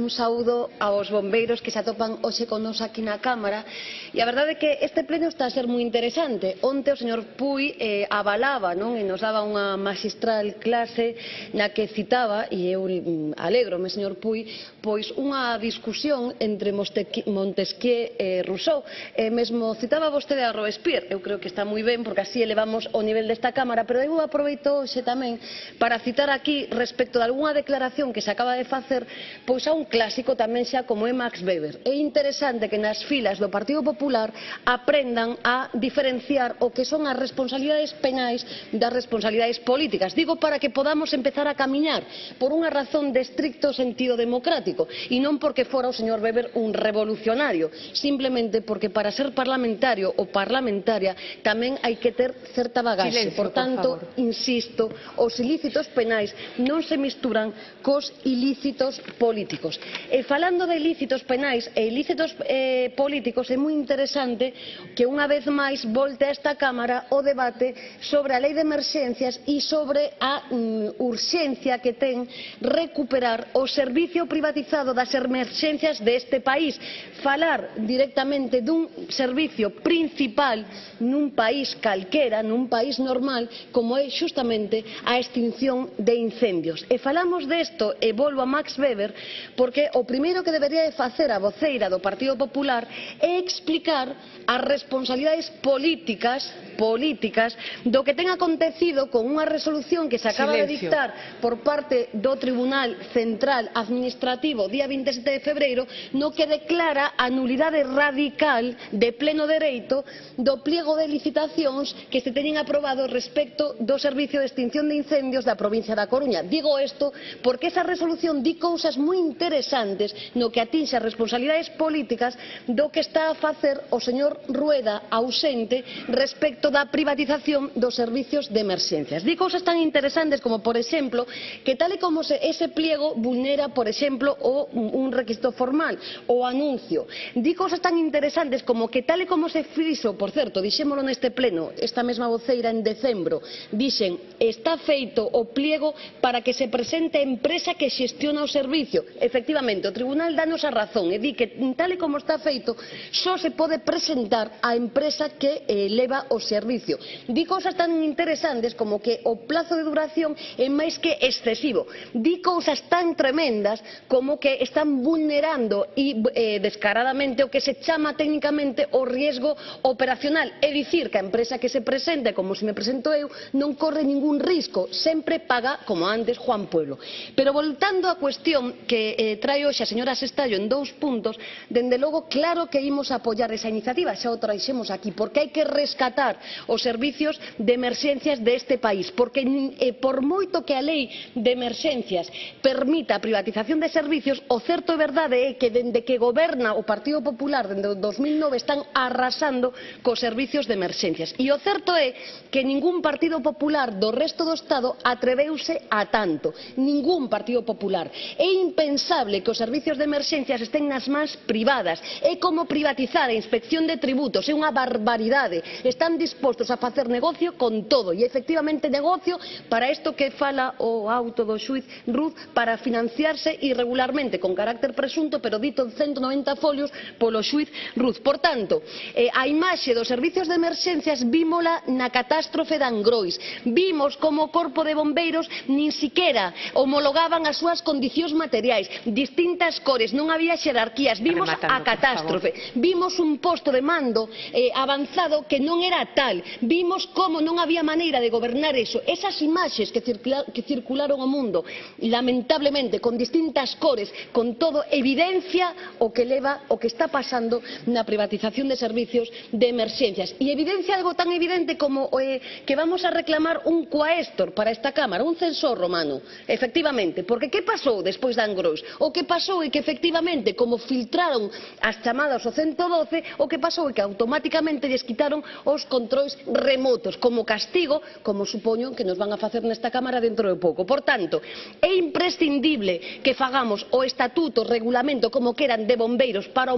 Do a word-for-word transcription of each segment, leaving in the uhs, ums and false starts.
Un saúdo aos bombeiros que se atopan hoxe con nos aquí na Cámara, e a verdade é que este pleno está a ser moi interesante. Onte o señor Puy eh, avalaba, non? E nos daba unha magistral clase na que citaba, e eu alégrome, señor Puy, pois unha discusión entre Montesquieu e Rousseau. E mesmo citaba vostede a Robespierre. Eu creo que está moi ben, porque así elevamos o nivel desta Cámara, pero eu aproveito hoxe tamén para citar aquí respecto de algunha declaración que se acaba de facer, pois a un clásico tamén xa como é Max Weber. É interesante que nas filas do Partido Popular aprendan a diferenciar o que son as responsabilidades penais das responsabilidades políticas. Digo para que podamos empezar a camiñar por unha razón de estricto sentido democrático e non porque fora o señor Weber un revolucionario, simplemente porque para ser parlamentario ou parlamentaria tamén hai que ter certa bagaxe. Por tanto, insisto, os ilícitos penais non se misturan cos ilícitos políticos. E falando de ilícitos penais e ilícitos eh, políticos, é moi interesante que unha vez máis volte a esta Cámara o debate sobre a lei de emerxencias e sobre a mm, urxencia que ten recuperar o servicio privatizado das emerxencias deste país. Falar directamente dun servicio principal nun país calquera, nun país normal, como é xustamente a extinción de incendios. E falamos desto, e volvo a Max Weber, porque o primeiro que debería de facer a voceira do Partido Popular é explicar as responsabilidades políticas políticas do que ten acontecido con unha resolución que se acaba de dictar por parte do Tribunal Central Administrativo día vinte e sete de febreiro, no que declara a nulidade radical de pleno dereito do pliego de licitacións que se teñen aprobado respecto do Servicio de Extinción de Incendios da provincia da Coruña. Digo isto porque esa resolución di cousas moi interesantes no que atinxe as responsabilidades políticas do que está a facer o señor Rueda ausente respecto da privatización dos servicios de emerxencias. Di cousas tan interesantes como, por exemplo, que tal e como se ese pliego vulnera, por exemplo, o, un requisito formal, o anuncio. Di cousas tan interesantes como que tal e como se fixo, por certo, dixémolo neste pleno, esta mesma voceira en decembro, dixen, está feito o pliego para que se presente a empresa que xestiona o servicio. Efectivamente, o Tribunal danos a razón e di que tal e como está feito só se pode presentar a empresa que eh, leva o servicio. Di cousas tan interesantes como que o plazo de duración é máis que excesivo. Di cousas tan tremendas como que están vulnerando e eh, descaradamente o que se chama técnicamente o riesgo operacional. É dicir, que a empresa que se presente, como se me presento eu, non corre ningún risco, sempre paga como antes Juan Pueblo. Pero voltando á cuestión que eh, trae hoxe a señora Sestallo en dous puntos, dende logo claro que imos a apoiar esa iniciativa, xa o traixemos aquí, porque hai que rescatar os servicios de emerxencias deste país, porque eh, por moito que a lei de emerxencias permita a privatización de servicios, o certo e verdade é que dende que goberna o Partido Popular dende o dos mil nove están arrasando cos servicios de emerxencias. E o certo é que ningún Partido Popular do resto do Estado atreveuse a tanto, ningún Partido Popular. É impensable que os servicios de emerxencias estén nas mans privadas, é como privatizar a inspección de tributos, é unha barbaridade. Están dispostos a facer negocio con todo, e efectivamente negocio para isto que fala o auto do xuiz Ruz, para financiarse irregularmente con carácter presunto, pero dito en ciento noventa folios polo xuiz Ruz. Por tanto, eh, a imaxe dos servicios de emerxencias vímola na catástrofe de Angrois. Vimos como o Corpo de Bombeiros nin siquera homologaban as súas condicións materiais, distintas cores, non había xerarquías, vimos a catástrofe, vimos un posto de mando eh, avanzado que non era tal, vimos como non había maneira de gobernar eso. Esas imaxes que, circula, que circularon ao mundo, lamentablemente, con distintas cores, con todo, evidencia o que leva, o que está pasando na privatización de servicios de emerxencias. E evidencia algo tan evidente como eh, que vamos a reclamar un coaestor para esta Cámara, un censor romano, efectivamente, porque que pasou despois de Angrois? O que pasou é que efectivamente, como filtraron as chamadas ao ciento doce, o que pasou é que automáticamente lles quitaron os controis remotos, como castigo, como supoño que nos van a facer nesta Cámara dentro de pouco. Por tanto, é imprescindible que fagamos o estatuto, o regulamento, como queran, de bombeiros para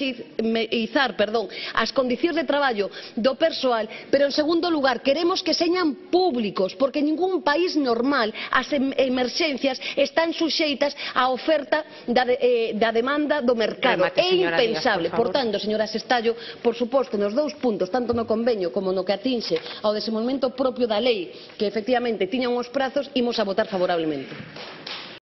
homoxeizar perdón, as condicións de traballo do persoal, pero en segundo lugar, queremos que señan públicos, porque ningún país normal as emerxencias están suxeitas a oferta da, de, eh, da demanda do mercado. Remate, É impensable. Díaz, por, por tanto, señora Sestallo, por suposto, nos dous puntos, tanto no convenio como no que atinxe ao desenvolvemento propio da lei, que efectivamente tiñan os prazos, imos a votar favorablemente.